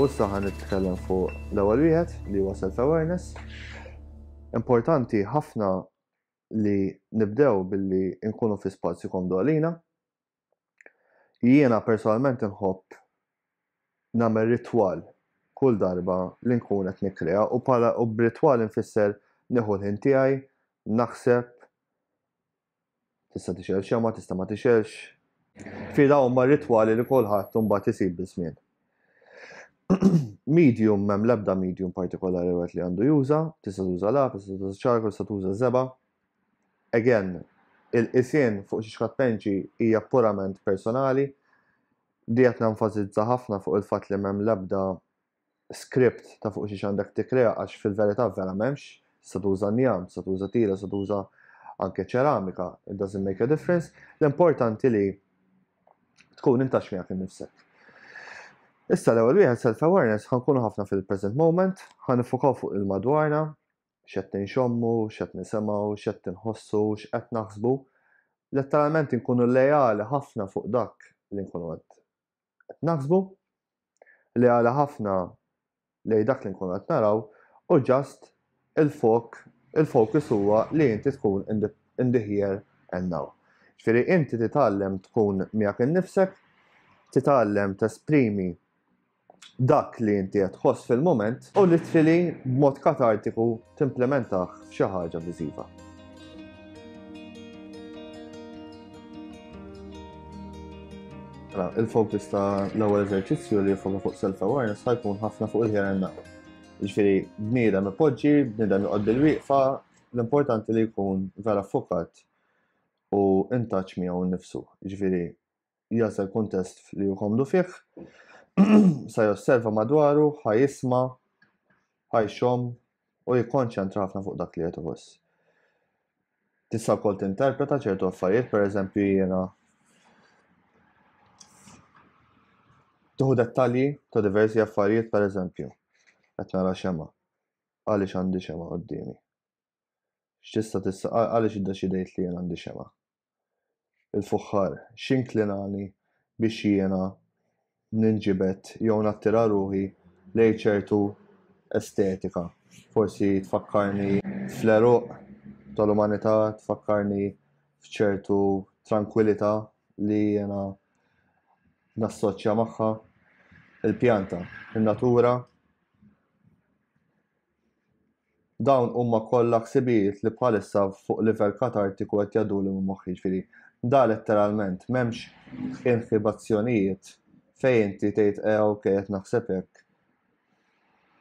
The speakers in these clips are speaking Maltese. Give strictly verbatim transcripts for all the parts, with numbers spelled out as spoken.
So issa ħa nitkellem fuq l-ewwel wieħed li huwa self-awareness. Importanti ħafna li nibdew billi nkunu fi spazju komdu għalina. Jiena personalment nħobb nagħmel ritwal kull darba li nkun qed nikkrea u bħala u b'ritwal infisser nieħu l-ħin tiegħi, naħseb, tista' tixgħel xemgħa, tista' ma tixgħelx. Fi dawn huma ritwali li kulħadd imbagħad isib biż-żmien. Medium, m'hemm l-ebda medium partikolari wieħed li għandu juża, tista' tuża lapis, tista' tuża charcoal, tista' tuża żebgħa. Again, il-qisien fuq xi tpenġi hija purament personali. Di qed nenfasizza ħafna fuq il-fatt li m'hemm l-ebda script ta' fuq xi għandek tikkrea, għax fil-verità vera m'hemmx. Tista' tuża njam, tista' tuża tila, tista' tuża anke ċeramika, it doesn't make a difference. L-importanti li tkun in touch miegħek innifsek. Issa l-ewwel wieħed, self-awareness, ħa nkunu ħafna fil-present moment, ħa nifokaw fuq il-madwarna, x'qed nxommu, x'qed nisimgħu, x'qed inħossu, x'qed naħsbu. Letteralment nkunu lejali ħafna fuq dak li nkunu qed naħsbu, lejali ħafna lej dak li nkunu qed naraw, u just il-fok, il-focus huwa li inti tkun in the, in the here and now. Ġifieri inti titgħallem tkun miegħek innifsek, titgħallem tesprimi dak li inti qed tħoss fil-moment u literally b'mod katartiku timplementah f'xi ħaġa viżiva. Il-focus ta' l-ewwel eżerċizzju li jfoka fuq self-awareness ħa jkun ħafna fuq il-here and now. Ġifieri bniedem ipoġġi, bniedem joqgħod bil-wieqfa, l-importanti li jkun vera fokat u in touch miegħu nnifsu. Ġifieri jasal kuntest li hu komdu fih, sa josserva madwaru, ħa jisma', ħa jxomm u jikkonċentra ħafna fuq dak li qed iħoss. Tista' wkoll tinterpreta ċertu affarijiet, pereżempju jiena tieħu dettalji ta' diversi affarijiet, pereżempju qed nara xemgħa. Għaliex għandi xemgħa quddiemi? X'tista' tista' għaliex iddeċidejt li jien għandi xemgħa? Il-fuħħar x'inklinani biex jiena ninġibed jew nattira ruħi lejn ċertu estetika. Forsi tfakkarni fl-għeruq tal-umanità, tfakkarni f'ċertu tranquillità li jiena nassoċja magħha. Il-pjanta, in-natura. Dawn huma kollha ħsibijiet li bħalissa fuq livell katartiku qed jgħadduli minn moħħi, ġifieri da letteralment m'hemmx inhibizzjonijiet fejn inti tgħid eh ok qed naħseb hekk.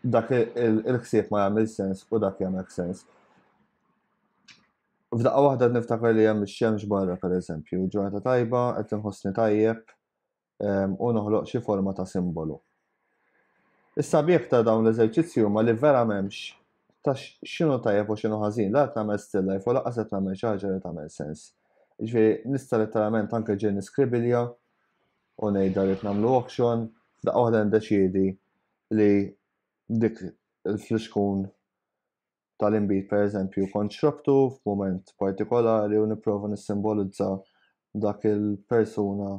Dak il-ħsieb ma jagħmel sens u dak jagħmel sens. F'daqqa waħda niftakar li hemm ix-xemx barra pereżempju, ġurnata tajba, qed inħossni tajjeb u noħloq xi forma ta' simbolu. Is-sabiħ ta' dawn l-eżerċizzji huma li vera m'hemmx ta' x'inhu tajjeb u x'inhu ħażin, la qed nagħmel still life u lanqas qed nagħmel xi ħaġa li tagħmel sens. Ġifieri nista' letteralment anke ġej niskribilja u ngħidha li nagħmlu auction, f'daqqa waħda niddeċiedi li dik il-flixkun tal-inbid pereżempju kont xrobtu f'mument partikolari u nipprova nissimbolizza dak il-persuna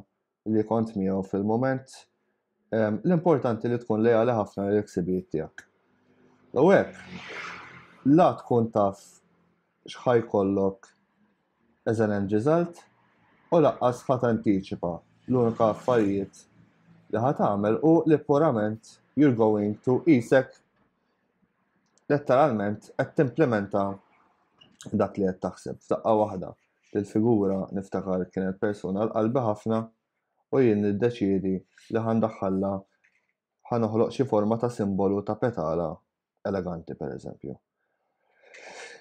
li kont miegħu fil-mument. L-importanti li tkun lejali ħafna lill-ħsibijiet tiegħek. U hekk, la tkun taf x'ħa jkollok as an end result u lanqas ħa tantiċipa. L-unika affarijiet li ħa tagħmel hu li purament you're going to qisek letteralment qed timplementa dak li qed taħseb. F'daqqa waħda il-figura niftakar kienet persuna l-qalbi ħafna u jien niddeċiedi li ħa ndaħħalha, ħa noħloq xi forma ta' simbolu ta' petala eleganti pereżempju.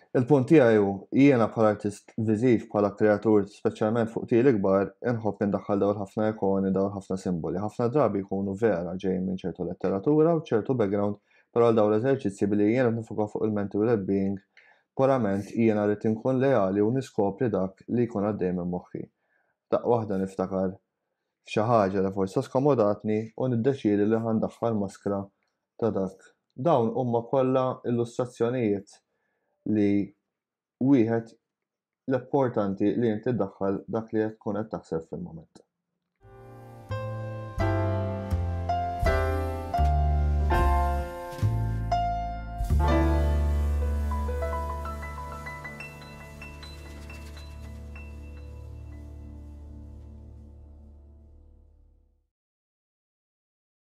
Il-punt tiegħi hu jiena bħala artist viżiv, bħala kreatur, speċjalment fuq tili kbar, inħobb indaħħal dawn ħafna ikoni, dawn ħafna simboli. Ħafna drabi jkunu vera ġejjin minn ċertu letteratura u ċertu background, però għal dawn l-eżerċizzji billi jiena nifoka fuq il-mental well-being, purament jiena rrid inkun leali u niskopri dak li jkun għaddej minn moħħi. Daqqa waħda niftakar f'xi ħaġa li forsi skomodatni u niddeċiedi li ħa ndaħħal maskra ta' dak. Dawn huma kollha illustrazzjonijiet li wieħed l-importanti li inti ddaħħal dak li qed tkun qed taħseb fil-mument.